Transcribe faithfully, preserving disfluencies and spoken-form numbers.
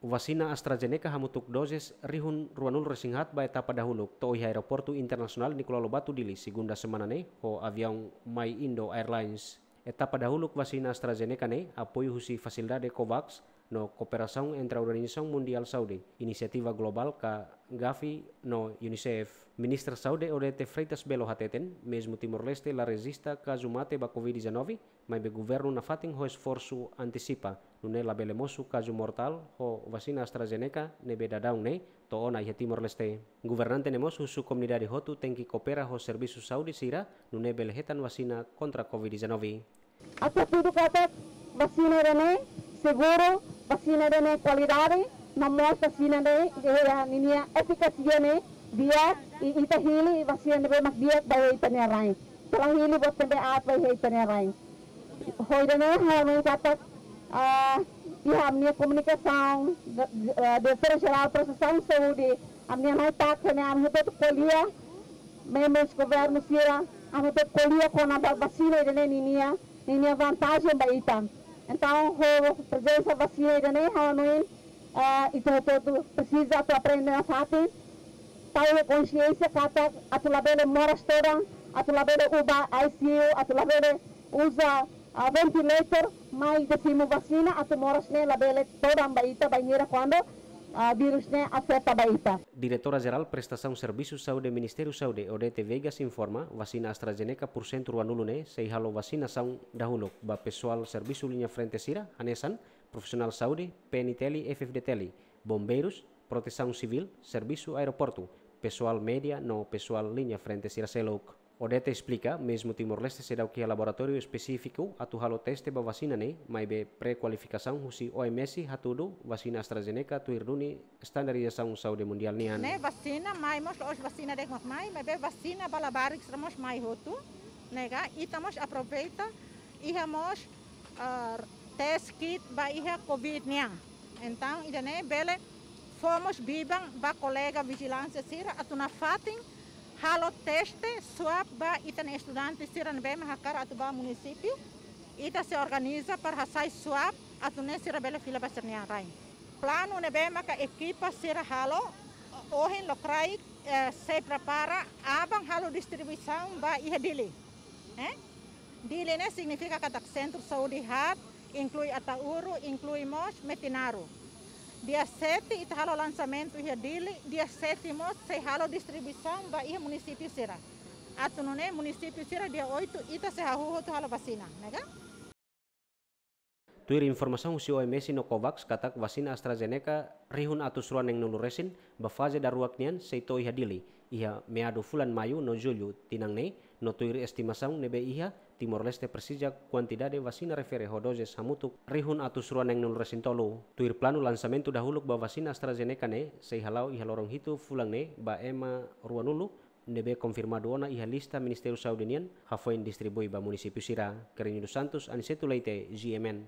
Vasina AstraZeneca hamutuk doses rihun ruanulu-resin-haat ba etapa dahuluk to'o iha Aeroportu Internasionál Nicolau Lobato Dili, segunda semana ne'e, ho aviaun MyIndo Airlines. Etapa dahuluk vasina AstraZeneca ne'e apoiu husi fasilidade COVAX no kooperasaun entre Organizasaun Mundiál Saúde, Inisiativa Globál ka Gavi no UNICEF. Ministra Saúde Odete Freitas Belo hateten, mezmu Timor-Leste la rejista kazu mate ba COVID dezanove, maibé governu nafatin ho esforsu antisipa, nune'e labele mosu kazu mortál ho vasina AstraZeneca ne'ebé daudaun ne'e to'o ona iha Timor-Leste. Governante ne'e mós husu komunidade hotu tenke koopera ho servisu saúde sira, nune'e bele hetan vasina kontra COVID dezanove. Atu hatudu katak vasina ida-ne'e seguru, vasina ida-ne'e kualidade, no mós vasina ida-ne'e iha ninia efikásia ne'e di'ak, i ita hili vasina ne'ebé mak di'ak ba iha ita-nia rain. Ita la hili buat ne'ebé aat ba iha ita-nia rain. Ho ida-ne'e ha'u hanoin katak, ah, iha ami-nia komunikasaun, de-, eh, Diretór Jerál Prestasaun Saúde, ami-nia nai tak, ne'e ami hotu ko'alia, membru governu sira, ami hotu ko'alia kona-ba vasina ida-ne'e ninia, ninia vantajen ba ita. Entaun, ho prezensa vasina ida-ne'e, ha'u hanoin, eh, ita hotu presiza atu aprende nafatin, tau konxiénsia katak atu labele moras todan, atu labele uza ICU, atu labele uza, ah, ventilator, mai ita simu vasina, atu moras ne'e labele todan ba ita, bainhira kuandu, ah, virus ne'e afeta ba ita. Diretora Jerál Prestasaun Servisu Saúde Ministériu Saúde, Odete Veigas, informa, vasina AstraZeneca pursentu ruanulu ne'e sei halo vasinasaun dahuluk ba pesoál servisu liña frente sira, hanesan profisionál saúde, PNTL, F-FDTL, bombeirus, protesaun sivíl, servisu aeroportu, pesoál média no pesoál liña frente sira seluk. Odete esplika, mezmu Timor-Leste seidauk iha laboratóriu espesífiku atu halo teste ba vasina ne'e, maibé pré-kualifikasaun husi OMS hatudu vasina AstraZeneca tuir duni estandarizasaun saúde mundiál nian. Ne'e vasina mai mós, la'ós vasina de'it mak mai, maibé vasina ba labarik sira mós mai hotu, ne'e ka, ita mós aproveita, iha mós, ah, test kit ba iha COVID nian. Entaun, ida-ne'e bele fó mós biban ba kolega vijilánsia sira atu nafatin halo teste swab ba ita-nia estudante sira ne'ebé mak hakarak atu bá munisípiu. Ita sei organiza para hasai swab atu nune'e sira bele fila ba sira-nia rain. Planu ne'ebé maka ekipa sira halo, ohin lokraik, eh, sei prepara, aban halo distribuisaun ba iha Dili. Eh? Dili ne'e signifika katak sentru saúde haat, inklui Ataúru, inklui mós Metinaro. Dia sete ita halo lansamentu iha Dili, dia sete mós sei halo distribuisaun ba iha munisípiu sira. Atu nune'e munisípiu sira dia oito ita sei hahú hotu halo vasina, ne'e ka? Tuir informasaun husi OMS no COVAX katak vasina AstraZeneca rihun atus rua neenulu resin ba faze daruak nian sei to'o iha Dili iha meadu fulan Maiu no Jullu tinan ne'e, no tuir estimasaun ne'ebé iha, Timor-Leste presiza kuantidade vasina refere ho doses hamutuk rihun atus rua neenulu resin tolu. Tuir planu, lansamentu dahuluk ba vasina AstraZeneca ne'e sei hala'o iha loron hitu fulan ne'e ba ema ruanulu ne'ebé konfirmadu ona iha lista Ministériu Saúde nian, hafoin distribui ba munisípiu sira. Carreño dos Santos, Aniceto Leite, G M N.